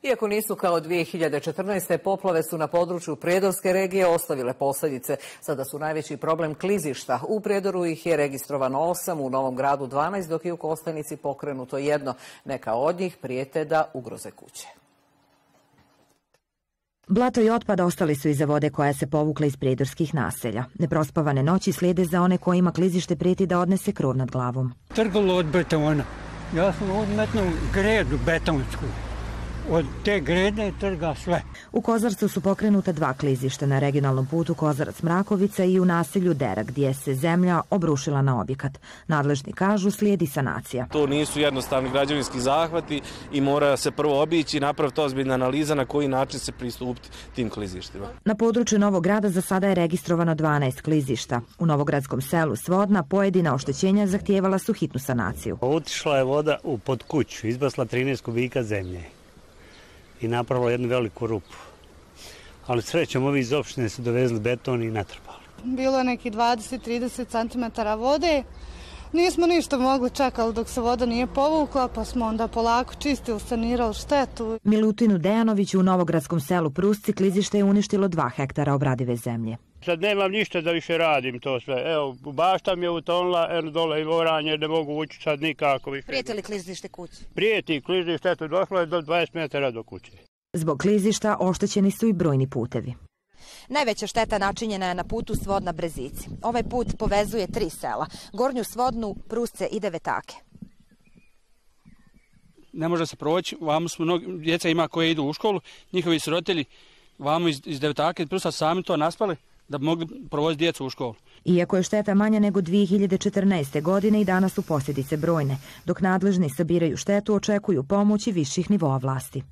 Iako nisu kao 2014. poplave su na području Prijedorske regije ostavile posljedice. Sada su najveći problem klizišta. U Prijedoru ih je registrovano 8, u Novom Gradu 12, dok je u Kostajnici pokrenuto 1. Neka od njih prijete da ugroze kuće. Blato i otpad ostali su iza vode koja se povukla iz prijedorskih naselja. Neprospavane noći slijede za one kojima klizište prijeti da odnese krov nad glavom. Trgalo od betona. Ja sam odmetnuo gredu betonsku. Od te grede trga sve. U Kozarcu su pokrenuta 2 klizišta na regionalnom putu Kozarac-Mrakovica i u naselju Dera, gdje se zemlja obrušila na objekat. Nadležni kažu slijedi sanacija. To nisu jednostavni građevinski zahvati i mora se prvo obići i napraviti ozbiljna analiza na koji način se pristupiti tim klizištima. Na području Novog Grada za sada je registrovano 12 klizišta. U novogradskom selu Svodna pojedina oštećenja zahtijevala su hitnu sanaciju. Otišla je voda pod kuću, izbasla 13 kubika zemlje i napravila jednu veliku rupu. Ali srećom ovi iz opštine su dovezli beton i natrpali. Bilo je neki 20-30 cm vode. Nismo ništa mogli čekali dok se voda nije povukla, pa smo onda polako čistili, sanirali štetu. Milutinu Dejanoviću u novogradskom selu Prusci klizište je uništilo 2 hektara obradive zemlje. Sad nemam ništa da više radim to sve. Evo, bašta mi je utonula, dole i oranje, ne mogu ući sad nikako više. Prijeti li klizište kući? Prijeti klizište, eto, došlo je do 20 metara do kuće. Zbog klizišta oštećeni su i brojni putevi. Najveća šteta načinjena je na putu Svodna-Brezici. Ovaj put povezuje 3 sela, Gornju Svodnu, Prusce i Devetake. Ne može se proći, vamo smo djeca ima koje idu u školu, njihovi su roditelji vamo iz Devetake i Prusa sami to naspali da bi mogli provoziti djecu u školu. Iako je šteta manja nego 2014. godine i danas su posljedice brojne. Dok nadležni sabiraju štetu, očekuju pomoći viših nivoa vlasti.